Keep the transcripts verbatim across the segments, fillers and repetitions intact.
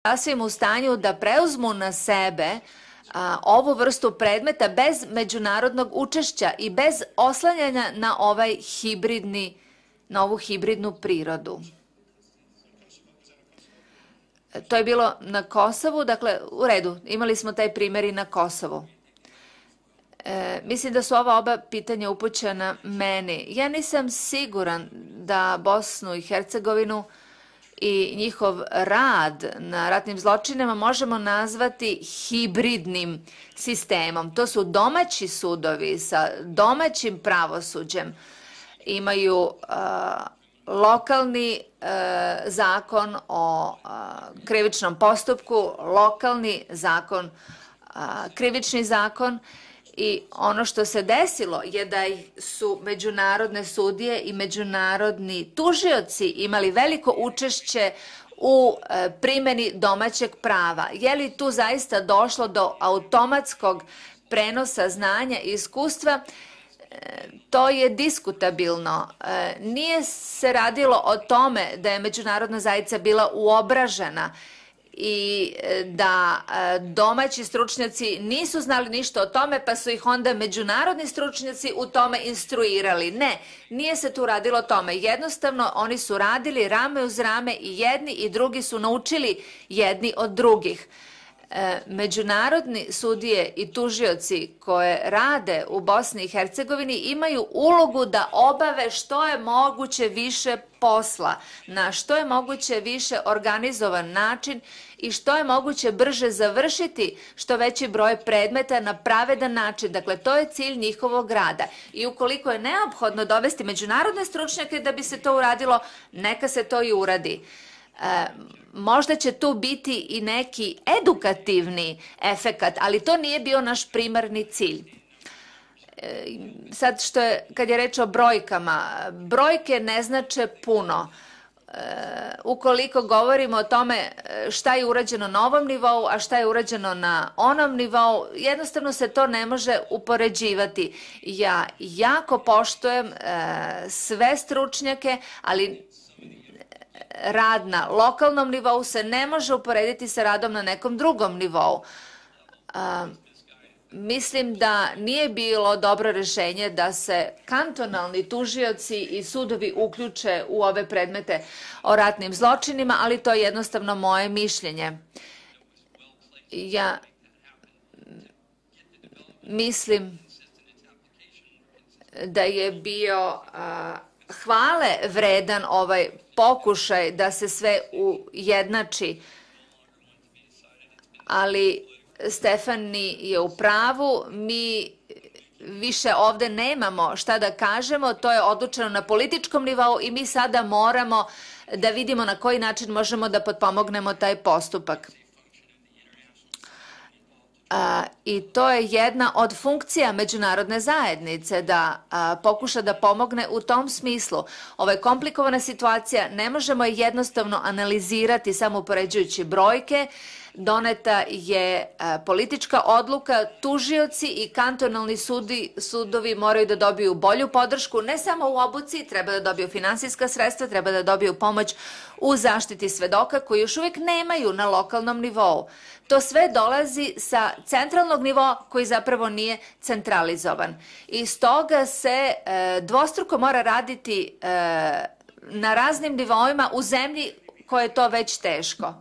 sasvim u stanju da preuzmu na sebe a, ovu vrstu predmeta bez međunarodnog učešća i bez oslanjanja na ovaj hibridni, na ovu hibridnu prirodu. To je bilo na Kosovu, dakle, u redu, imali smo taj primjer i na Kosovu. E, mislim da su ova oba pitanja upućena meni. Ja nisam siguran da Bosnu i Hercegovinu i njihov rad na ratnim zločinima možemo nazvati hibridnim sistemom. To su domaći sudovi sa domaćim pravosuđem. Imaju a, lokalni a, zakon o a, krivičnom postupku, lokalni zakon, a, krivični zakon. I ono što se desilo je da su međunarodne sudije i međunarodni tužioci imali veliko učešće u primjeni domaćeg prava. Je li tu zaista došlo do automatskog prenosa znanja i iskustva? To je diskutabilno. Nije se radilo o tome da je međunarodna zajednica bila uobražena i da domaći stručnjaci nisu znali ništa o tome, pa su ih onda međunarodni stručnjaci u tome instruirali. Ne, nije se tu radilo o tome. Jednostavno, oni su radili rame uz rame i jedni i drugi su naučili jedni od drugih. Međunarodni sudije i tužioci koje rade u Bosni i Hercegovini imaju ulogu da obave što je moguće više posla, na što je moguće više organizovan način i što je moguće brže završiti što veći broj predmeta na pravedan način. Dakle, to je cilj njihovog rada. I ukoliko je neophodno dovesti međunarodne stručnjake da bi se to uradilo, neka se to i uradi. E, možda će tu biti i neki edukativni efekat, ali to nije bio naš primarni cilj. E, sad što je, kad je reč o brojkama, brojke ne znače puno. E, ukoliko govorimo o tome šta je urađeno na ovom nivou, a šta je urađeno na onom nivou, jednostavno se to ne može upoređivati. Ja jako poštujem e, sve stručnjake, ali rad na lokalnom nivou se ne može uporediti sa radom na nekom drugom nivou. A, mislim da nije bilo dobro rješenje da se kantonalni tužioci i sudovi uključe u ove predmete o ratnim zločinima, ali to je jednostavno moje mišljenje. Ja mislim da je bio a, hvale vredan ovaj pokušaj da se sve ujednači, ali Stefani je u pravu, mi više ovde nemamo šta da kažemo, to je odlučeno na političkom nivou i mi sada moramo da vidimo na koji način možemo da potpomognemo taj postupak. A, I to je jedna od funkcija međunarodne zajednice, da a, pokuša da pomogne u tom smislu. Ovo je komplikovana situacija, ne možemo je jednostavno analizirati samo upoređujući brojke. Doneta je a, politička odluka, tužioci i kantonalni sudi, sudovi moraju da dobiju bolju podršku, ne samo u obuci, treba da dobiju finansijska sredstva, treba da dobiju pomoć u zaštiti svedoka koji još uvijek nemaju na lokalnom nivou. To sve dolazi sa centralnog nivoa koji zapravo nije centralizovan. I stoga se e, dvostruko mora raditi e, na raznim nivoima u zemlji koje je to već teško.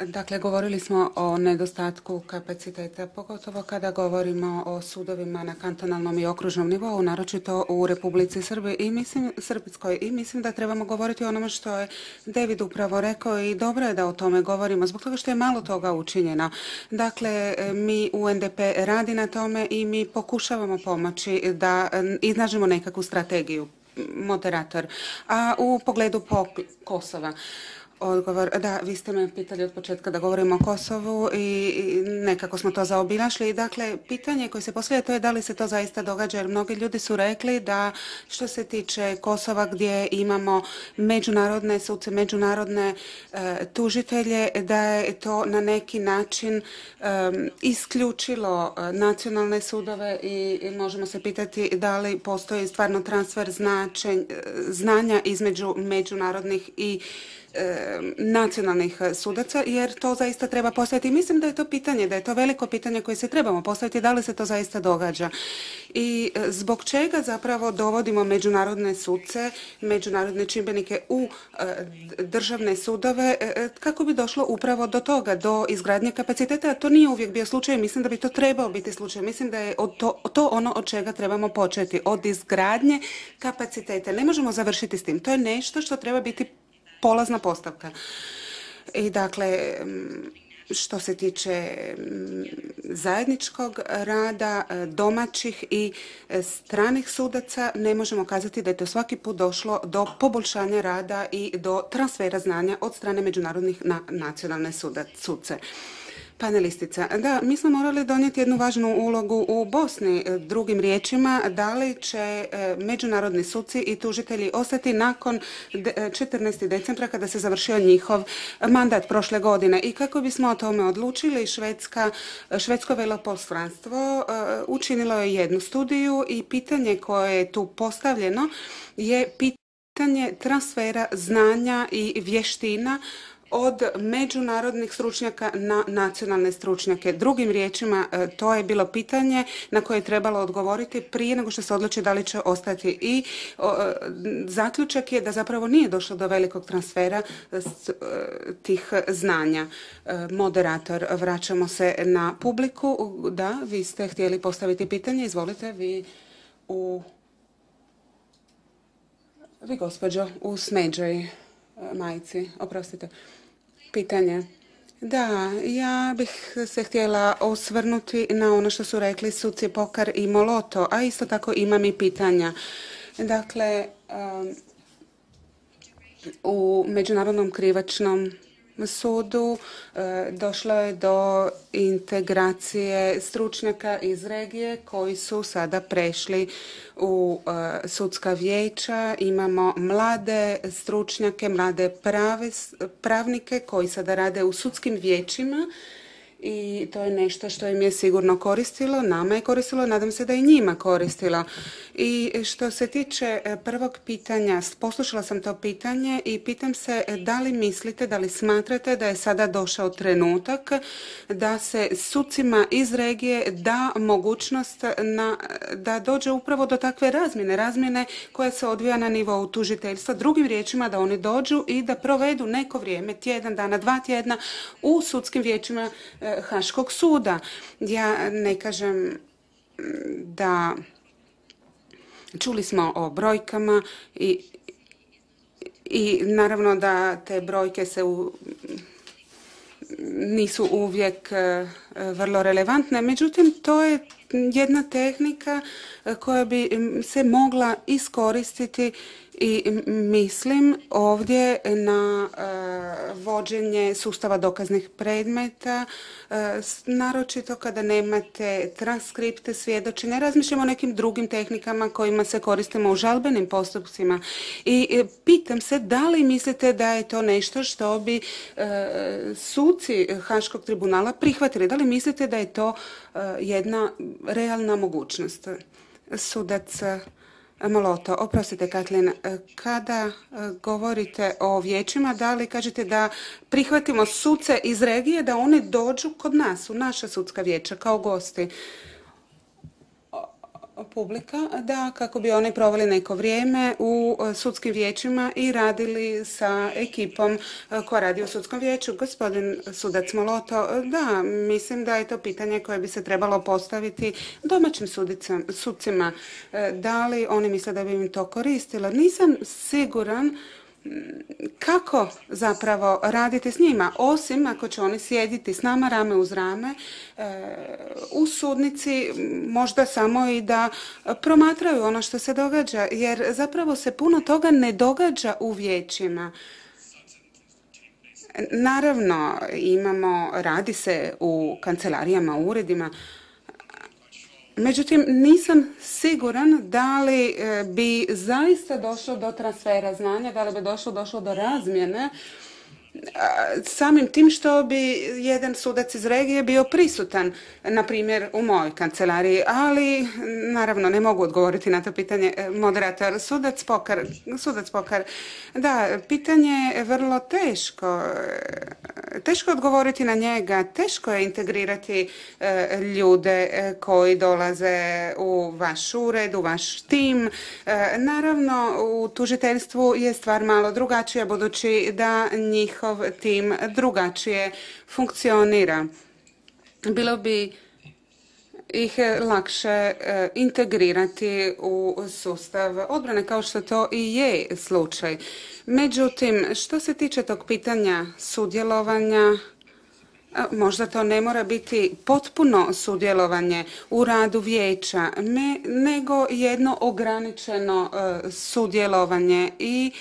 Dakle, govorili smo o nedostatku kapaciteta, pogotovo kada govorimo o sudovima na kantonalnom i okružnom nivou, naročito u Republici Srbiji i mislim, Srpskoj. I mislim da trebamo govoriti o onome što je David upravo rekao i dobro je da o tome govorimo, zbog toga što je malo toga učinjeno. Dakle, mi u N D P radi na tome i mi pokušavamo pomoći da iznađemo nekakvu strategiju, moderator. A u pogledu Kosova, odgovor, da, vi ste me pitali od početka da govorimo o Kosovu i nekako smo to zaobilašli. Dakle, pitanje koje se postavlja to je da li se to zaista događa, jer mnogi ljudi su rekli da što se tiče Kosova gdje imamo međunarodne suce, međunarodne e, tužitelje, da je to na neki način e, isključilo nacionalne sudove i, i možemo se pitati da li postoji stvarno transfer značenj, znanja između međunarodnih i nacionalnih sudaca, jer to zaista treba postaviti. Mislim da je to pitanje, da je to veliko pitanje koje se trebamo postaviti, da li se to zaista događa. I zbog čega zapravo dovodimo međunarodne suce, međunarodne čimbenike u državne sudove, kako bi došlo upravo do toga, do izgradnje kapaciteta, a to nije uvijek bio slučaj. Mislim da bi to trebao biti slučaj. Mislim da je to, to ono od čega trebamo početi, od izgradnje kapaciteta. Ne možemo završiti s tim. To je nešto što treba biti polazna postavka. I dakle, što se tiče zajedničkog rada domaćih i stranih sudaca, ne možemo kazati da je to svaki put došlo do poboljšanja rada i do transfera znanja od strane međunarodnih na nacionalne suce. Panelistica, da, mi smo morali donijeti jednu važnu ulogu u Bosni. Drugim riječima, da li će međunarodni suci i tužitelji ostati nakon četrnaestog decembra kada se završio njihov mandat prošle godine. I kako bismo o tome odlučili, Švedska, švedsko veleposlanstvo učinilo je jednu studiju i pitanje koje je tu postavljeno je pitanje transfera znanja i vještina od međunarodnih stručnjaka na nacionalne stručnjake. Drugim riječima, to je bilo pitanje na koje je trebalo odgovoriti prije nego što se odluči da li će ostati. I o, zaključak je da zapravo nije došlo do velikog transfera tih znanja. Moderator, vraćamo se na publiku. Da, vi ste htjeli postaviti pitanje. Izvolite, vi u... Vi, gospođo, u smeđoj majici. Oprostite. Pitanje. Da, ja bih se htjela osvrnuti na ono što su rekli suci Pokar i Moloto, a isto tako imam i pitanja. Dakle, um, u Međunarodnom krivičnom sudu e, došlo je do integracije stručnjaka iz regije koji su sada prešli u e, sudska vijeća. Imamo mlade stručnjake, mlade prave, pravnike koji sada rade u sudskim vijećima i to je nešto što im je sigurno koristilo, nama je koristilo, nadam se da i njima koristilo. I što se tiče prvog pitanja, poslušala sam to pitanje i pitam se da li mislite, da li smatrate da je sada došao trenutak da se sucima iz regije da mogućnost na, da dođe upravo do takve razmjene, razmjene koja se odvija na nivou tužiteljstva. Drugim riječima da oni dođu i da provedu neko vrijeme, tjedan dana, dva tjedna u sudskim vijećima Haškog suda. Ja ne kažem da čuli smo o brojkama i, i naravno da te brojke se u, nisu uvijek vrlo relevantne, međutim to je jedna tehnika koja bi se mogla iskoristiti i mislim ovdje na uh, vođenje sustava dokaznih predmeta, uh, naročito kada nemate transkripte svjedočenja. Razmišljamo o nekim drugim tehnikama kojima se koristimo u žalbenim postupcima i uh, pitam se da li mislite da je to nešto što bi uh, suci Haškog tribunala prihvatili? Da li mislite da je to uh, jedna realna mogućnost? Sudac Moloto, oprostite Katlin, kada govorite o vijećima, da li kažete da prihvatimo suce iz regije, da oni dođu kod nas, u naša sudska vijeća, kao gosti? Publika, da, kako bi oni proveli neko vrijeme u sudskim vijećima i radili sa ekipom koja radi u sudskom vijeću. Gospodin sudac Moloto, da, mislim da je to pitanje koje bi se trebalo postaviti domaćim sucima. Da li oni misle da bi im to koristilo? Nisam siguran kako zapravo raditi s njima, osim ako će oni sjediti s nama rame uz rame e, u sudnici, možda samo i da promatraju ono što se događa, jer zapravo se puno toga ne događa u vijećima. Naravno, imamo, radi se u kancelarijama, u uredima, međutim, nisam siguran da li bi zaista došlo do transfera znanja, da li bi došlo, došlo do razmjene samim tim što bi jedan sudac iz regije bio prisutan, na primjer u mojoj kancelariji, ali naravno ne mogu odgovoriti na to pitanje. Moderator, sudac Pokar, sudac Pokar, da, pitanje je vrlo teško. Teško odgovoriti na njega, teško je integrirati ljude koji dolaze u vaš ured, u vaš tim. Naravno, u tužiteljstvu je stvar malo drugačija, budući da njihov tim drugačije funkcionira. Bilo bi ih lakše integrirati u sustav odbrane, kao što to i je slučaj. Međutim, što se tiče tog pitanja sudjelovanja, možda to ne mora biti potpuno sudjelovanje u radu vijeća, nego jedno ograničeno sudjelovanje i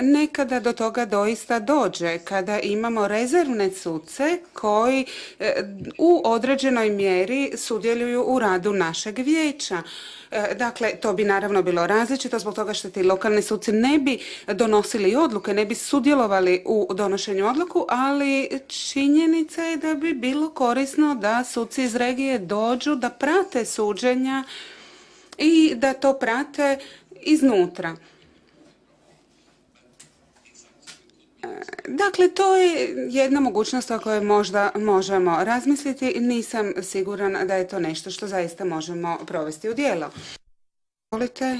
nekada do toga doista dođe kada imamo rezervne suce koji u određenoj mjeri sudjeluju u radu našeg vijeća. Dakle, to bi naravno bilo različito zbog toga što ti lokalni suci ne bi donosili odluke, ne bi sudjelovali u donošenju odluku, ali činjenica je da bi bilo korisno da suci iz regije dođu, da prate suđenja i da to prate iznutra. Dakle, to je jedna mogućnost o kojoj možda možemo razmisliti. Nisam siguran da je to nešto što zaista možemo provesti u djelo. Volite?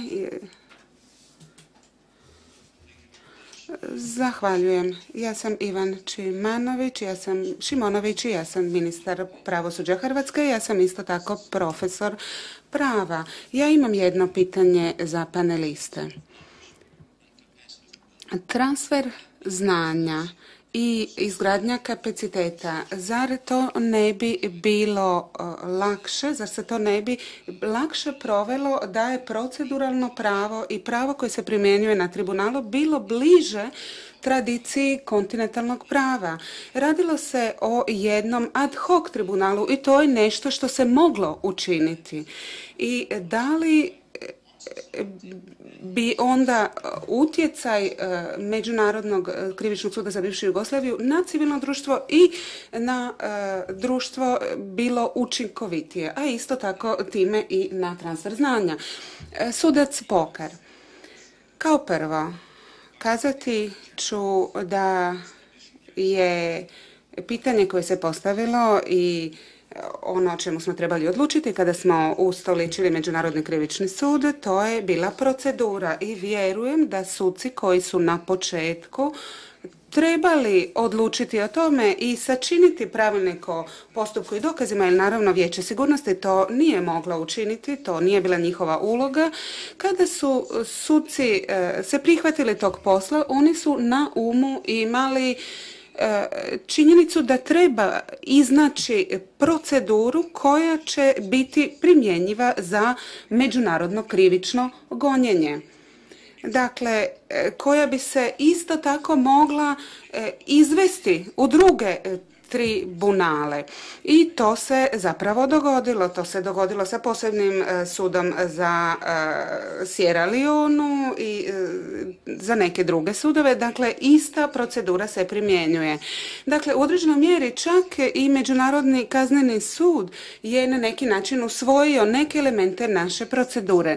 Zahvaljujem. Ja sam Ivan Čimanović, ja sam Šimonović i ja sam ministar pravosuđa Hrvatske. Ja sam isto tako profesor prava. Ja imam jedno pitanje za paneliste. Transfer znanja i izgradnja kapaciteta, zar to ne bi bilo lakše, zar se to ne bi lakše provelo da je proceduralno pravo i pravo koje se primjenjuje na tribunalu bilo bliže tradiciji kontinentalnog prava. Radilo se o jednom ad hoc tribunalu i to je nešto što se moglo učiniti. I da li bi onda utjecaj Međunarodnog krivičnog suda za bivšu Jugoslaviju na civilno društvo i na društvo bilo učinkovitije, a isto tako time i na transfer znanja. Sudac Pokar. Kao prvo, kazati ću da je pitanje koje se postavilo i ono o čemu smo trebali odlučiti kada smo ustoličili Međunarodni krivični sud, to je bila procedura i vjerujem da suci koji su na početku trebali odlučiti o tome i sačiniti pravilnik o postupku i dokazima, jer naravno Vijeće sigurnosti to nije moglo učiniti, to nije bila njihova uloga. Kada su suci se prihvatili tog posla, oni su na umu imali činjenicu da treba iznaći proceduru koja će biti primjenjiva za međunarodno krivično gonjenje. Dakle, koja bi se isto tako mogla izvesti u druge tribunale. I to se zapravo dogodilo. To se dogodilo sa posebnim sudom za Sierra Leonu i za neke druge sudove. Dakle, ista procedura se primjenjuje. Dakle, u određenoj mjeri čak i Međunarodni kazneni sud je na neki način usvojio neke elemente naše procedure.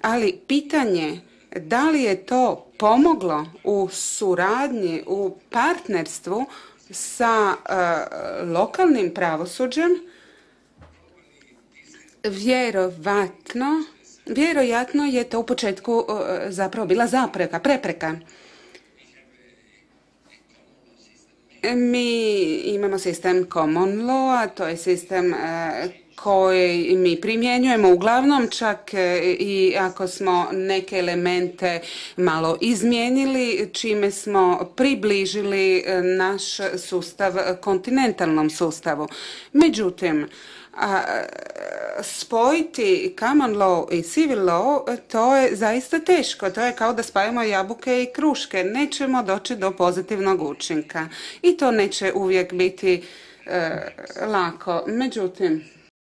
Ali pitanje da li je to pomoglo u suradnji, u partnerstvu sa uh, lokalnim pravosuđem, vjerovatno, vjerojatno je to u početku uh, zapravo bila zapreka, prepreka. Mi imamo sistem common law, to je sistem uh, koji mi primjenjujemo uglavnom, čak i ako smo neke elemente malo izmijenili, čime smo približili naš sustav kontinentalnom sustavu. Međutim, a, spojiti common law i civil law, to je zaista teško. To je kao da spajamo jabuke i kruške. Nećemo doći do pozitivnog učinka. I to neće uvijek biti e, lako. Međutim,